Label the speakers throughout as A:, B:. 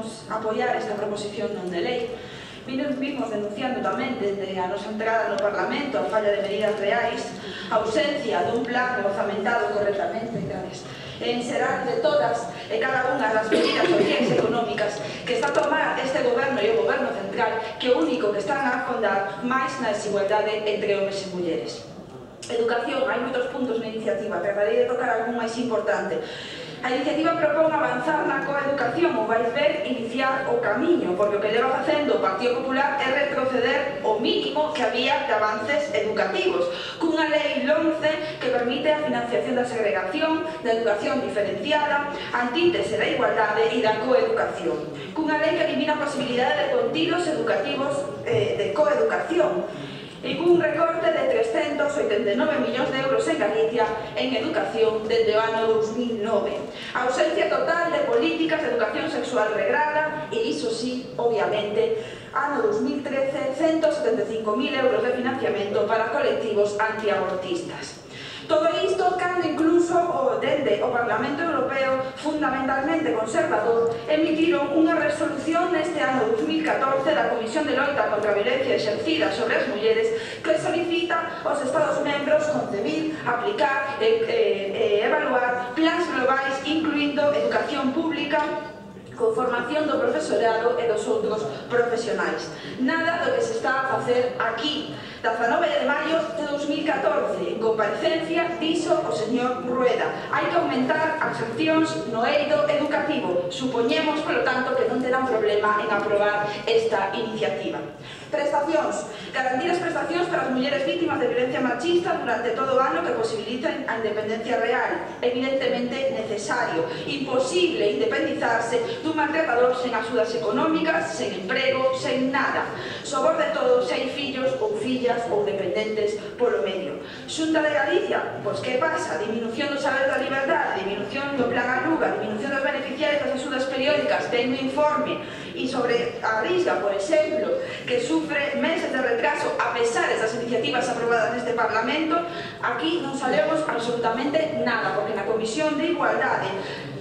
A: imos apoiar esta proposición non de lei. Vimos denunciando tamén desde a nosa entrada no Parlamento a falla de medidas reais, a ausencia dun plan orzamentado correctamente, en xeral de todas e cada unha das medidas sociais e económicas que está a tomar este goberno e o goberno central, que o único que están a afondar máis na desigualdade entre homes e mulleres. Educación, hai moitos puntos na iniciativa, tratarei de tocar algún máis importante. A iniciativa propón avanzar na coeducación, ou vais ver, iniciar o camiño, porque o que leva facendo o Partido Popular é retroceder o mínimo que había de avances educativos, cunha lei 11 que permite a financiación da segregación, da educación diferenciada, antíntese da igualdade e da coeducación, cunha lei que elimina a posibilidade de contidos educativos de coeducación, e cun recorte de 389 millóns de euros en Galicia en educación desde o ano 2009. A ausencia total de políticas de educación sexual regrada e, iso sí, obviamente, ano 2013, 175.000 euros de financiamento para colectivos antiabortistas. Todo isto cando incluso dende o Parlamento Europeo, fundamentalmente conservador, emitiron unha resolución neste ano 2014 da Comisión de Loita contra a Violencia Exercida sobre as Mulleres que solicita aos Estados membros concebir, aplicar e evaluar plans globais incluindo educación pública con formación do profesorado e dos outros profesionais. Nada do que se está a facer aquí. 19 de maio de 2014, en comparecencia, dixo o señor Rueda: hai que aumentar as accións no eido educativo. Supoñemos, polo tanto, que non terán problema en aprobar esta iniciativa. Prestacións. Garantir as prestacións para as mulleres vítimas de violencia machista durante todo o ano que posibiliten a independencia real. Evidentemente necesario. Imposible independizarse dun maltratador sen axudas económicas, sen emprego, sen nada. Sobre todo se hai fillos ou fillas ou dependentes polo medio. Xunta de Galicia, pois que pasa? Diminución do saber da liberdade, diminución do plan Aluga, diminución dos beneficiarios das axudas periódicas, ten un informe, e sobre a Risga, por exemplo, que sufre meses de retraso a pesar das iniciativas aprobadas neste Parlamento, aquí non sabemos absolutamente nada, porque na Comisión de Igualdade,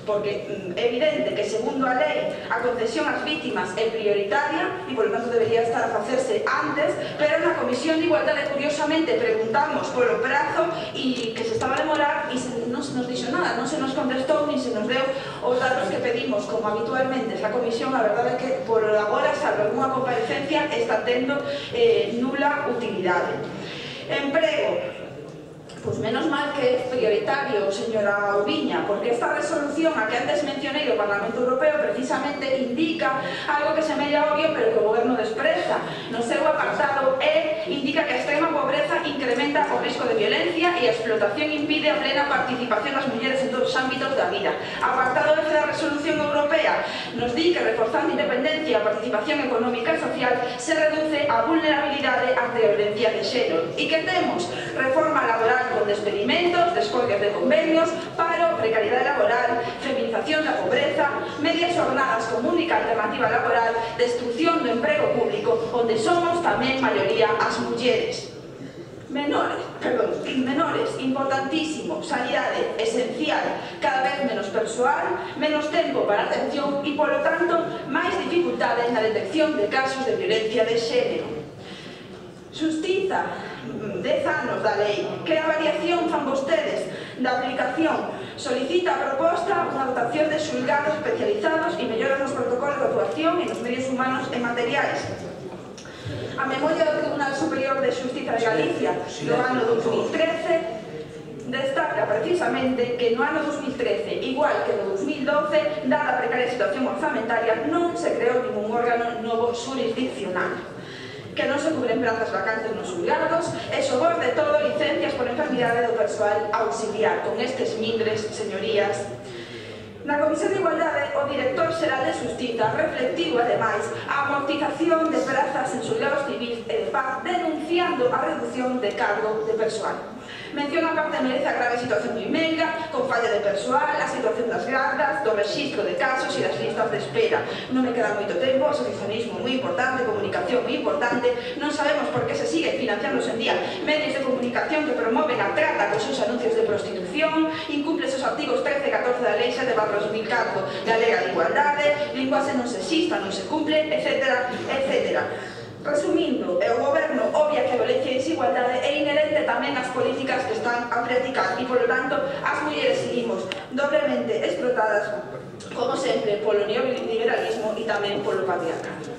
A: porque é evidente que segundo a lei a concesión ás vítimas é prioritaria e polo tanto debería estar a facerse antes, pero na Comisión de Igualdade curiosamente preguntamos polo prazo e que se estaba a demorar e non se nos dixo nada, non se nos contestou ni se nos deu os datos que pedimos como habitualmente esa comisión. A verdade é que por agora, salvo algunha comparecencia, está tendo nula utilidade. Emprego. Pois menos mal que é prioritario, señora Ouviña, porque esta resolución a que antes mencionei do Parlamento Europeo precisamente indica algo que semella obvio pero que o goberno despreza. No seu apartado indica que a extrema pobreza incrementa o risco de violencia e a explotación impide a plena participación das mulleres en todos os ámbitos da vida. Apartado F da resolución europea nos di que reforzando a independencia e a participación económica e social se reduce a vulnerabilidade ante a violencia de xénero. E que temos? Reforma laboral con despedimentos, descolgues de convenios, paro, precariedade laboral, feminización da pobreza, medias jornadas como única alternativa laboral, destrucción do emprego público, onde somos tamén maioría as mulleres. Menores, importantísimo, sanidade, esencial, cada vez menos persoal, menos tempo para atención e, polo tanto, máis dificultades na detección de casos de violencia de xénero. Xustiza, 10 anos da lei. Que avaliación fan vostedes da aplicación? Solicita a proposta unha dotación de xulgados especializados e melloras nos protocolos de actuación e nos medios humanos e materiais. A memoria do Tribunal Superior de Xustiza de Galicia do ano 2013 destaca precisamente que no ano 2013, igual que no 2012, dada a precaria situación orzamentaria, non se creou ningún órgano novo xurisdiccional, que non se cubren plazas vacantes nos xulgados e, sobre todo, licencias por enfermidade do persoal auxiliar. Con estes mindres, señorías, na Comisión de Igualdade, o director xeral de Xustiza reflectiu, ademais, a amortización de prazas en xulgados civis e de paz, denunciando a reducción de cargo de persoal. Menciona aparte merece a grave situación do IMECA, con falla de persoal, a situación das gardas, do rexistro de casos e das listas de espera. Non me queda moito tempo, asociacionismo moi importante, comunicación moi importante, non sabemos por que se sigue financiando en día medios de comunicación que promoven a trata cos seus anuncios de prostitución, incumple os artigos 13 e 14 da Lei 7/2004 da Lei de Igualdade, linguaxe non sexista, non se cumple, etc. etc. Resumindo, o goberno obvia que a violencia e desigualdade é inherente tamén ás políticas que están a practicar e, polo tanto, as mulleres seguimos doblemente explotadas, como sempre, polo neoliberalismo e tamén polo patriarcado.